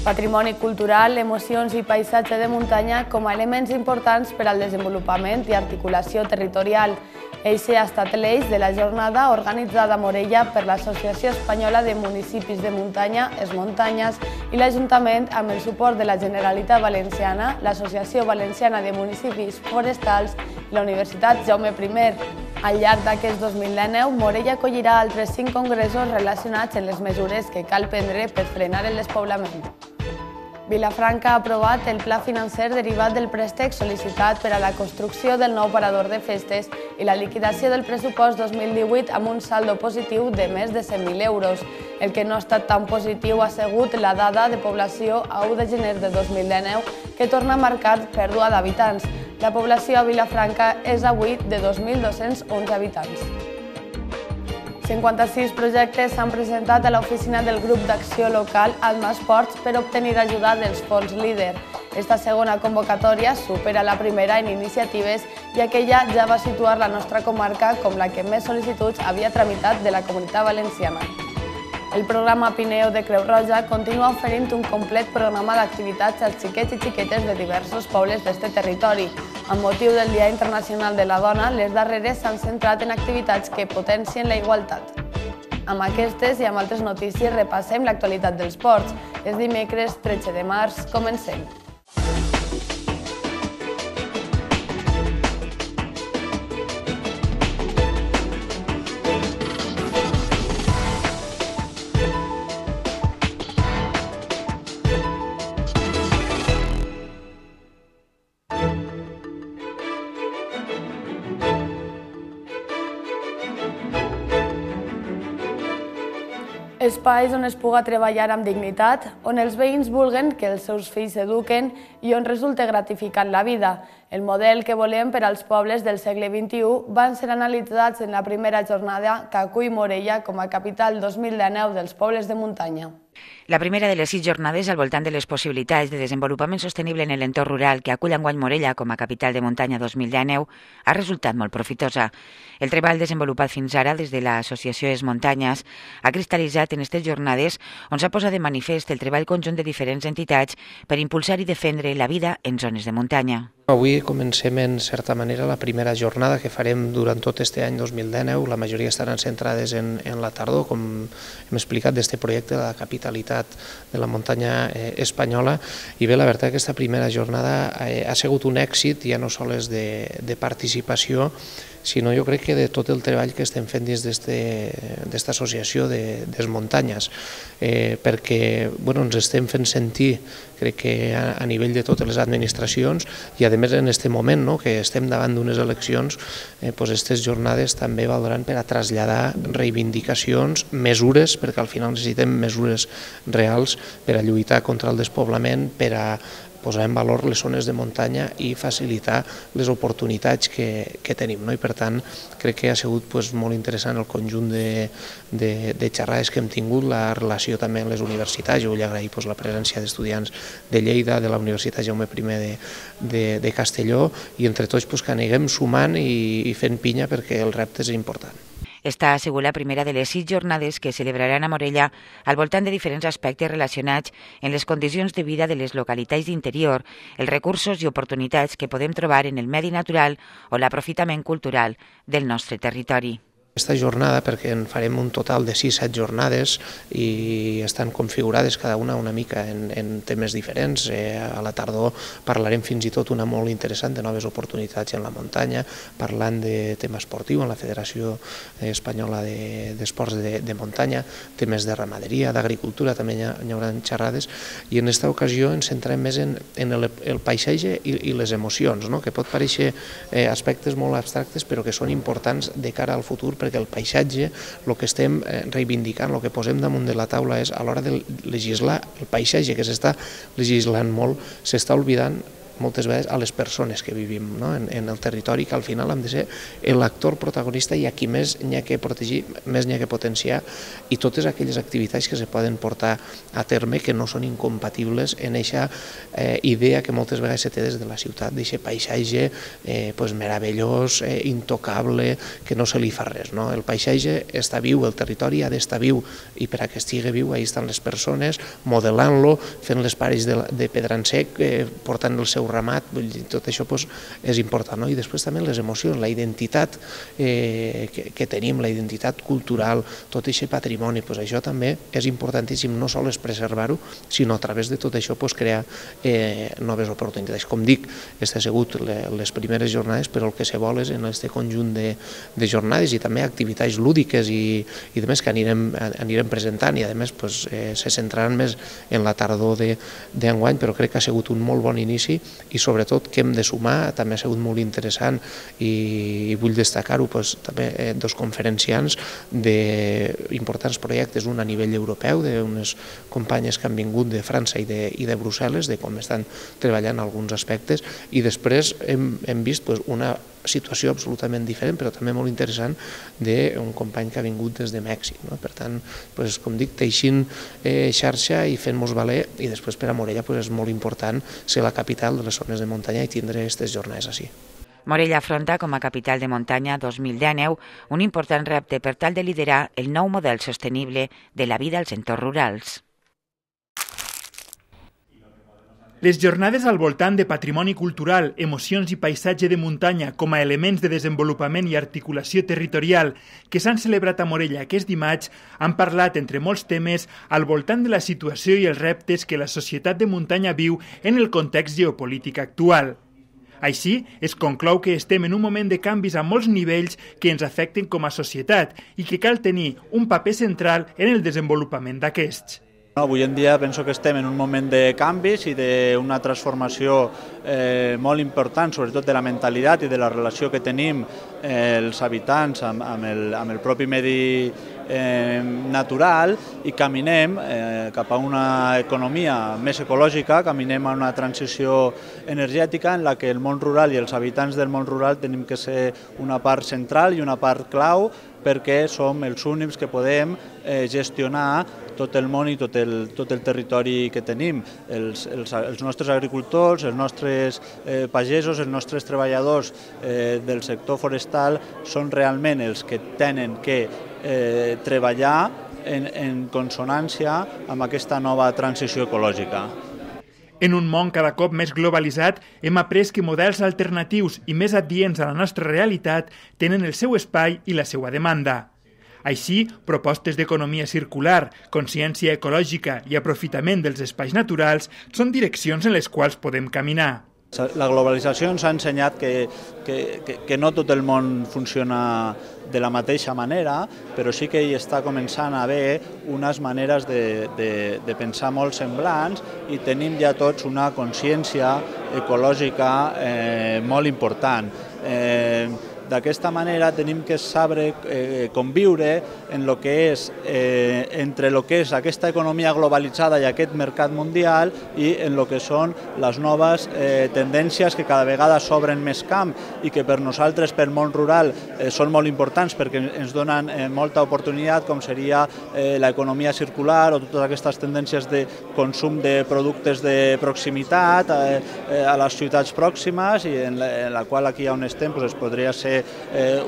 Patrimoni cultural, emocions i paisatge de muntanya com a elements importants per al desenvolupament i articulació territorial. Eixe ha estat l'eix de la jornada organitzada a Morella per l'Associació Espanyola de Municipis de Muntanya, Es Muntanyes, i l'Ajuntament amb el suport de la Generalitat Valenciana, l'Associació Valenciana de Municipis Forestals i la Universitat Jaume I. Al llarg d'aquest 2019, Morella acollirà altres 5 congressos relacionats amb les mesures que cal prendre per frenar el despoblament. Vilafranca ha aprovat el pla financer derivat del préstec sol·licitat per a la construcció del nou parador de festes i la liquidació del pressupost 2018 amb un saldo positiu de més de 100.000 euros. El que no ha estat tan positiu ha sigut la dada de població a 1 de gener de 2019, que torna a marcar pèrdua d'habitants. La població a Vilafranca és avui de 2.211 habitants. 56 projectes s'han presentat a l'oficina del grup d'acció local Alma Esports per obtenir ajuda dels fons LEADER. Esta segona convocatòria supera la primera en iniciatives, ja que ella ja va situar la nostra comarca com la que més sol·licituds havia tramitat de la Comunitat Valenciana. El programa Pineo de Creu Roja continua oferint un complet programa d'activitats als xiquets i xiquetes de diversos pobles d'este territori. Amb motiu del Dia Internacional de la Dona, les darreres s'han centrat en activitats que potencien la igualtat. Amb aquestes i amb altres notícies repassem l'actualitat dels ports. És dimecres 13 de març, comencem. Espais on es puga treballar amb dignitat, on els veïns vulguen que els seus fills s'eduquen i on resulta gratificant la vida. El model que volem per als pobles del segle XXI van ser analitzats en la primera jornada que acull Morella com a capital 2019 dels pobles de muntanya. La primera de les 6 jornades al voltant de les possibilitats de desenvolupament sostenible en l'entorn rural que acull enguany Morella com a capital de muntanya 2019 ha resultat molt profitosa. El treball desenvolupat fins ara des de l'Associació Es Muntanyes ha cristal·litzat en aquestes jornades on s'ha posat de manifest el treball conjunt de diferents entitats per impulsar i defendre la vida en zones de muntanya. Avui comencem, en certa manera, la primera jornada que farem durant tot aquest any 2019. La majoria estaran centrades en la tardor, com hem explicat, d'aquest projecte de la capitalitat de la muntanya espanyola. I bé, la veritat, aquesta primera jornada ha sigut un èxit, ja no sols de participació, sinó jo crec que de tot el treball que estem fent dins d'esta associació des Muntanyes, perquè ens estem fent sentir, crec que a nivell de totes les administracions, i a més en aquest moment que estem davant d'unes eleccions, aquestes jornades també valdran per a traslladar reivindicacions, mesures, perquè al final necessitem mesures reals per a lluitar contra el despoblament, per a posar en valor les zones de muntanya i facilitar les oportunitats que tenim. I per tant, crec que ha sigut molt interessant el conjunt de xerrades que hem tingut, la relació també amb les universitats. Jo vull agrair la presència d'estudiants de Lleida, de la Universitat Jaume I de Castelló, i entre tots que aneguem sumant i fent pinya perquè el repte és important. Esta ha sigut la primera de les 6 jornades que celebraran a Morella al voltant de diferents aspectes relacionats amb les condicions de vida de les localitats d'interior, els recursos i oportunitats que podem trobar en el medi natural o l'aprofitament cultural del nostre territori. Aquesta jornada, perquè en farem un total de 6-7 jornades i estan configurades cada una mica en temes diferents. A la tardor parlarem fins i tot una molt interessant de noves oportunitats en la muntanya, parlant de tema esportiu en la Federació Espanyola d'Esports de Muntanya, temes de ramaderia, d'agricultura, també hi haurà xerrades, i en aquesta ocasió ens centrem més en el paisatge i les emocions, que pot parèixer aspectes molt abstractes però que són importants de cara al futur, perquè el paisatge, el que estem reivindicant, el que posem damunt de la taula és, a l'hora de legislar el paisatge, que s'està legislant molt, s'està oblidant moltes vegades a les persones que vivim en el territori, que al final hem de ser l'actor protagonista i a qui més n'hi ha que protegir, més n'hi ha que potenciar, i totes aquelles activitats que se poden portar a terme que no són incompatibles en aquesta idea que moltes vegades se té des de la ciutat, d'aquest paisatge meravellós, intocable, que no se li fa res. El paisatge està viu, el territori ha d'estar viu, i per a que estigui viu, ahí estan les persones, modelant-lo, fent les pares de pedra en sec, portant el seu ramat, tot això és important. I després també les emocions, la identitat que tenim, la identitat cultural, tot aquest patrimoni, això també és importantíssim, no sols preservar-ho, sinó a través de tot això crear noves oportunitats. Com dic, aquestes han sigut les primeres jornades, però el que se vol és en aquest conjunt de jornades i també activitats lúdiques i demés que anirem presentant, i a més se centraran més en la tardor d'enguany, però crec que ha sigut un molt bon inici, i sobretot que hem de sumar, també ha sigut molt interessant, i vull destacar-ho, també dos conferenciants d'importants projectes, un a nivell europeu, d'unes companyes que han vingut de França i de Brussel·les, de com estan treballant alguns aspectes, i després hem vist una situació absolutament diferent, però també molt interessant, d'un company que ha vingut des de Mèxic. Per tant, com dic, teixint xarxa i fent-nos valer, i després per a Morella és molt important ser la capital de les zones de muntanya i tindre aquestes jornades així. Morella afronta com a capital de muntanya 2019 un important repte per tal de liderar el nou model sostenible de la vida als entorns rurals. Les jornades al voltant de patrimoni cultural, emocions i paisatge de muntanya com a elements de desenvolupament i articulació territorial que s'han celebrat a Morella aquest dimarts han parlat, entre molts temes, al voltant de la situació i els reptes que la societat de muntanya viu en el context geopolític actual. Així, es conclou que estem en un moment de canvis a molts nivells que ens afecten com a societat i que cal tenir un paper central en el desenvolupament d'aquests. Avui en dia penso que estem en un moment de canvis i d'una transformació molt important, sobretot de la mentalitat i de la relació que tenim els habitants amb el propi medi natural, i caminem cap a una economia més ecològica, caminem a una transició energètica en la que el món rural i els habitants del món rural tenim que ser una part central i una part clau, perquè som els únics que podem gestionar tot el món i tot el territori que tenim. Els nostres agricultors, els nostres pagesos, els nostres treballadors del sector forestal són realment els que tenen que treballar en consonància amb aquesta nova transició ecològica. En un món cada cop més globalitzat, hem après que models alternatius i més adients a la nostra realitat tenen el seu espai i la seva demanda. Així, propostes d'economia circular, consciència ecològica i aprofitament dels espais naturals són direccions en les quals podem caminar. La globalització ens ha ensenyat que no tot el món funciona de la mateixa manera, però sí que hi està començant a haver unes maneres de pensar molt semblants, i tenim ja tots una consciència ecològica molt important. D'aquesta manera tenim que saber conviure entre el que és aquesta economia globalitzada i aquest mercat mundial i en el que són les noves tendències que cada vegada s'obren més camp i que per nosaltres, pel món rural, són molt importants perquè ens donen molta oportunitat, com seria l'economia circular o totes aquestes tendències de consum de productes de proximitat a les ciutats pròximes, i en la qual aquí on estem es podria ser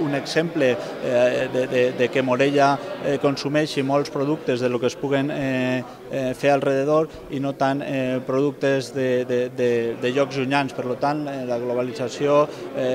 un exemple de que Morella consumeixi molts productes de lo que es puguen fer alrededor i no tant productes de llocs llunyans. Per tant, la globalització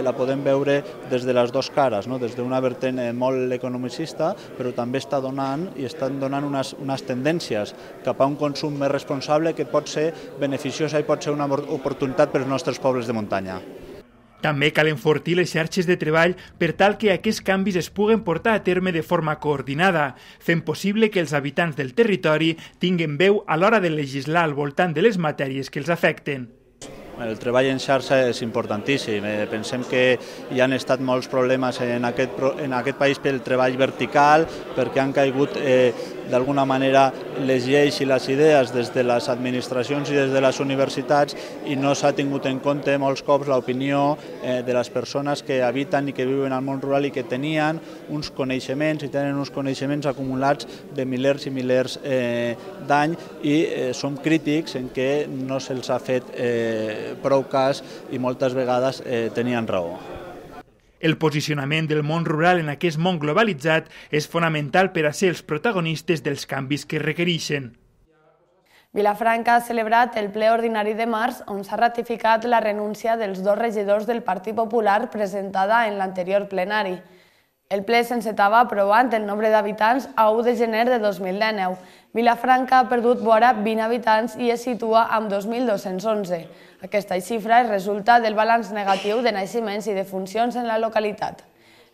la podem veure des de les dues cares, des d'una vertent molt economicista, però també estan donant unes tendències cap a un consum més responsable que pot ser beneficiosa i pot ser una oportunitat per als nostres pobles de muntanya. També cal enfortir les xarxes de treball per tal que aquests canvis es puguen portar a terme de forma coordinada, fent possible que els habitants del territori tinguin veu a l'hora de legislar al voltant de les matèries que els afecten. El treball en xarxa és importantíssim. Pensem que hi han estat molts problemes en aquest país pel treball vertical, perquè han caigut d'alguna manera les lleis i les idees des de les administracions i des de les universitats i no s'ha tingut en compte molts cops l'opinió de les persones que habiten i que viuen al món rural i que tenien uns coneixements i tenen uns coneixements acumulats de milers i milers d'any i som crítics en què no se'ls ha fet prou cas i moltes vegades tenien raó. El posicionament del món rural en aquest món globalitzat és fonamental per a ser els protagonistes dels canvis que requereixen. Vilafranca ha celebrat el ple ordinari de març on s'ha ratificat la renúncia dels 2 regidors del Partit Popular presentada en l'anterior plenari. El ple s'encetava aprovant el nombre d'habitants a 1 de gener de 2019. Vilafranca ha perdut vora 20 habitants i es situa amb 2.211. Aquesta xifra resulta del balanç negatiu de naixements i defuncions en la localitat.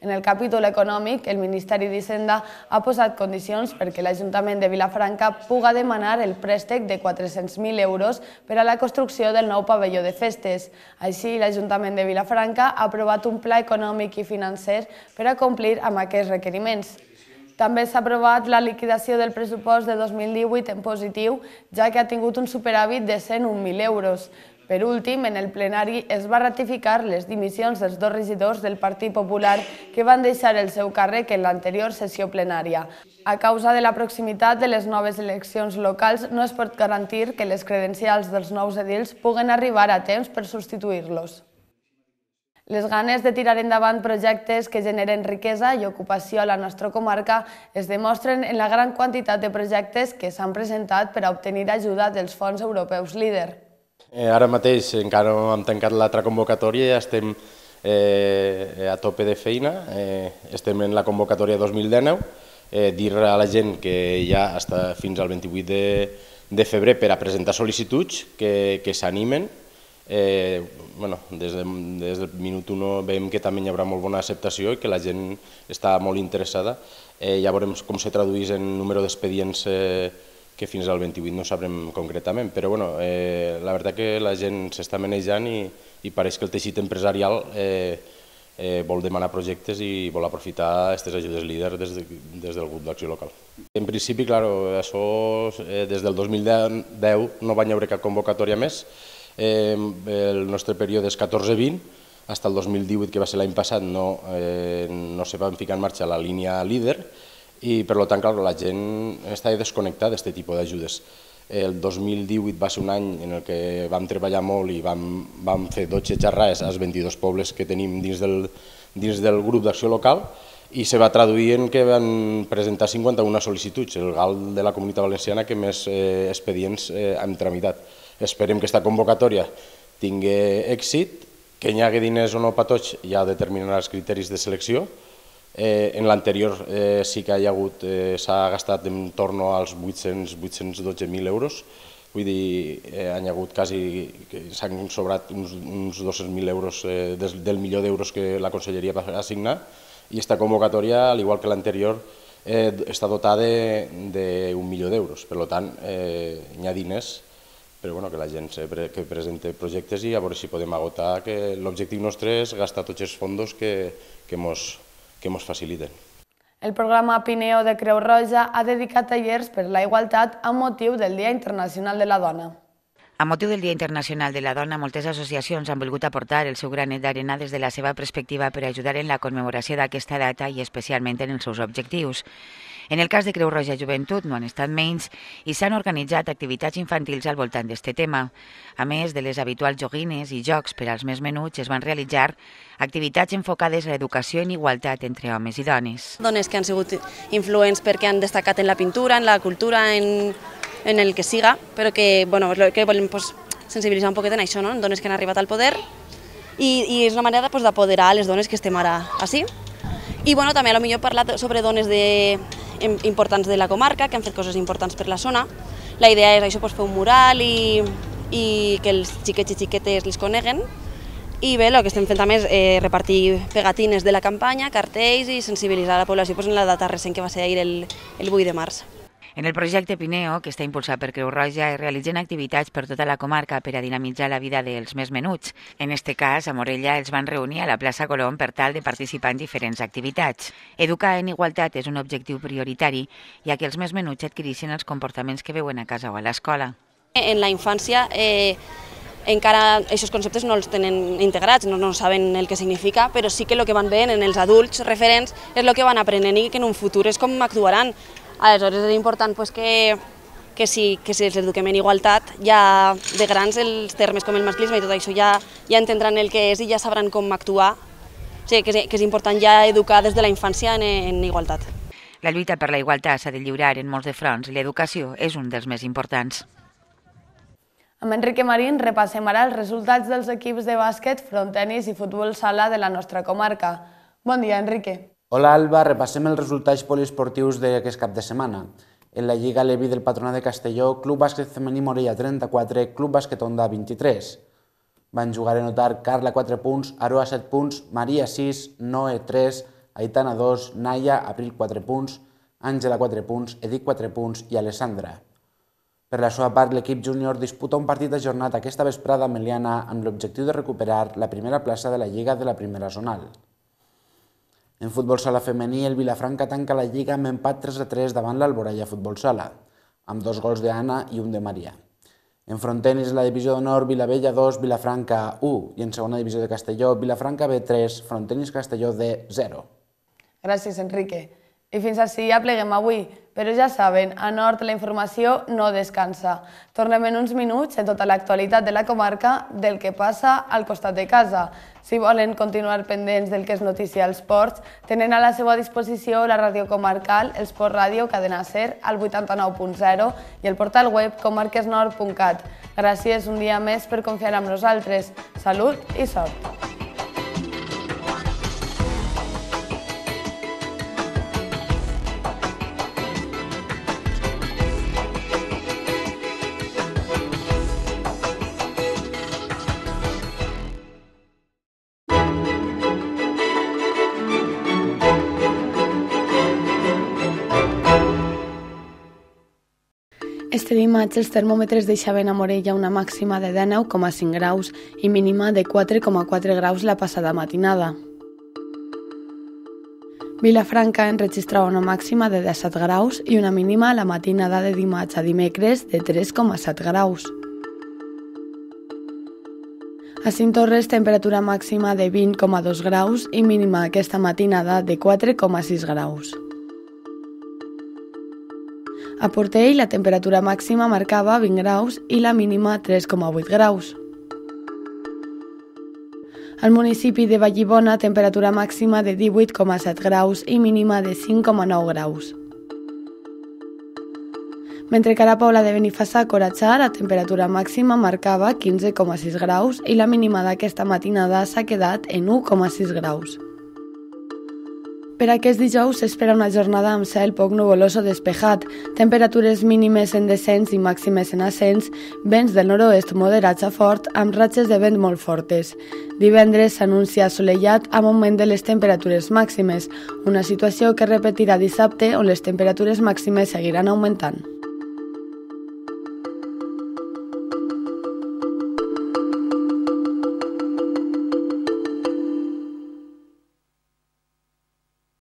En el capítol econòmic, el Ministeri d'Hisenda ha posat condicions perquè l'Ajuntament de Vilafranca puga demanar el préstec de 400.000 euros per a la construcció del nou pavelló de festes. Així, l'Ajuntament de Vilafranca ha aprovat un pla econòmic i financer per a complir amb aquests requeriments. També s'ha aprovat la liquidació del pressupost de 2018 en positiu, ja que ha tingut un superàvit de 101.000 euros. Per últim, en el plenari es va ratificar les dimissions dels 2 regidors del Partit Popular que van deixar el seu càrrec en l'anterior sessió plenària. A causa de la proximitat de les noves eleccions locals, no es pot garantir que les credencials dels nous edils puguen arribar a temps per substituir-los. Les ganes de tirar endavant projectes que generen riquesa i ocupació a la nostra comarca es demostren en la gran quantitat de projectes que s'han presentat per a obtenir ajuda dels fons europeus LEADER. Ara mateix encara no hem tancat l'altra convocatòria, ja estem a tope de feina, estem en la convocatòria 2019, dir a la gent que ja està fins al 28 de febrer per a presentar sol·licituds, que s'animen. Des del minut 1 veiem que també hi haurà molt bona acceptació i que la gent està molt interessada. Ja veurem com se tradueix en número d'expedients que fins al 28 no sabrem concretament, però la veritat que la gent s'està manejant i pareix que el teixit empresarial vol demanar projectes i vol aprofitar aquestes ajudes LEADER des del grup d'acció local. En principi, això des del 2010 no va haver cap convocatòria més. El nostre període és 14-20, fins al 2018, que va ser l'any passat, no se va ficar en marxa la línia LEADER i, per tant, la gent està desconnectada d'aquest tipus d'ajudes. El 2018 va ser un any en què vam treballar molt i vam fer 12 xerrades als 22 pobles que tenim dins del grup d'acció local i se va traduir en que van presentar 51 sol·licituds, el GAL de la Comunitat Valenciana que més expedients hem tramitat. Esperem que aquesta convocatòria tingui èxit, que hi hagi diners o no per tots ja determinarà els criteris de selecció. En l'anterior sí que s'ha gastat en torn als 812.000 euros, vull dir, han hagut quasi, s'han sobrat uns 200.000 euros del milió d'euros que la Conselleria va assignar i aquesta convocatòria, al igual que l'anterior, està dotada d'1 milió d'euros, per tant, hi ha diners, però que la gent que presenta projectes i a veure si podem agotar, que l'objectiu nostre és gastar tots els fons que ens faciliten. El programa Pineo de Creu Roja ha dedicat tallers per la igualtat amb motiu del Dia Internacional de la Dona. A motiu del Dia Internacional de la Dona, moltes associacions han volgut aportar el seu granet d'arena des de la seva perspectiva per ajudar en la commemoració d'aquesta data i especialment en els seus objectius. En el cas de Creu Roja Joventut no han estat menys i s'han organitzat activitats infantils al voltant d'aquest tema. A més de les habituals joguines i jocs per als més menuts, es van realitzar activitats enfocades a l'educació en igualtat entre homes i dones. Dones que han sigut influents perquè han destacat en la pintura, en la cultura, en el que siga, però que volem sensibilitzar un poquet en això, en dones que han arribat al poder i és una manera d'apoderar les dones que estem ara així. I també potser parlar sobre dones importants de la comarca, que han fet coses importants per la zona. La idea és això, fer un mural i que els xiquets i xiquetes les coneguen. I bé, el que estem fent també és repartir pegatines de la campanya, cartells i sensibilitzar la població en la data recent que va ser ahir el 8 de març. En el projecte Pineo, que està impulsat per Creu Roja, es realitzen activitats per tota la comarca per a dinamitzar la vida dels més menuts. En este cas, a Morella els van reunir a la plaça Colom per tal de participar en diferents activitats. Educar en igualtat és un objectiu prioritari, ja que els més menuts adquireixen els comportaments que veuen a casa o a l'escola. En la infància encara aquests conceptes no els tenen integrats, no saben el que significa, però sí que el que van veient en els adults referents és el que van aprenent i que en un futur és com actuaran. Aleshores és important que si els eduquem en igualtat, ja de grans els termes com el masclisme i tot això ja entendran el que és i ja sabran com actuar. O sigui, que és important ja educar des de la infància en igualtat. La lluita per la igualtat s'ha de lliurar en molts de fronts i l'educació és un dels més importants. Amb Enrique Marín repassem ara els resultats dels equips de bàsquet, frontenis i futbol sala de la nostra comarca. Bon dia, Enrique. Hola, Alba. Repassem els resultats poliesportius d'aquest cap de setmana. En la Lliga Levi del Patronat de Castelló, Club Bàsquet Femení Morella 34, Club Bàsquet Onda 23. Van jugar a notar Carla 4 punts, Aroa 7 punts, Maria 6, Noe 3, Aitana 2, Naya, Abril 4 punts, Àngela 4 punts, Edith 4 punts i Alessandra. Per la seva part, l'equip júnior disputa un partit ajornat aquesta vesprada a Meliana amb l'objectiu de recuperar la primera plaça de la Lliga de la primera zonal. En futbol sala femení, el Vilafranca tanca la Lliga amb empat 3-3 davant l'Alboraya Futbol Sala, amb 2 gols d'Anna i un de Maria. En frontenis, la divisió d'honor, Vilavella 2, Vilafranca 1, i en segona divisió de Castelló, Vilafranca B 3, frontenis Castelló D 0. Gràcies, Enrique. I fins així ja pleguem avui, però ja saben, a Nord la informació no descansa. Tornem en uns minuts en tota l'actualitat de la comarca del que passa al costat de casa. Si volen continuar pendents del que és notícia als ports, tenen a la seva disposició la ràdio comarcal, el Sport Ràdio, Cadena Ser, al 89.0 i el portal web comarquesnord.cat. Gràcies un dia més per confiar en nosaltres. Salut i sort! Este dimarts els termòmetres deixaven a Morella una màxima de 19,5 graus i mínima de 4,4 graus la passada matinada. Vilafranca enregistrava una màxima de 17 graus i una mínima la matinada de dimarts a dimecres de 3,7 graus. A Cinctorres, temperatura màxima de 20,2 graus i mínima aquesta matinada de 4,6 graus. A Portell, la temperatura màxima marcava 20 graus i la mínima 3,8 graus. Al municipi de Vallibona, temperatura màxima de 18,7 graus i mínima de 5,9 graus. Mentre que a la Pobla de Benifassà, Coratxar, la temperatura màxima marcava 15,6 graus i la mínima d'aquesta matinada s'ha quedat en 1,6 graus. Per aquest dijous s'espera una jornada amb cel poc nuvolós o despejat, temperatures mínimes en descens i màximes en ascens, vents del nord-oest moderats a fort amb ratxes de vent molt fortes. Divendres s'anuncia assolellat amb augment de les temperatures màximes, una situació que repetirà dissabte on les temperatures màximes seguiran augmentant.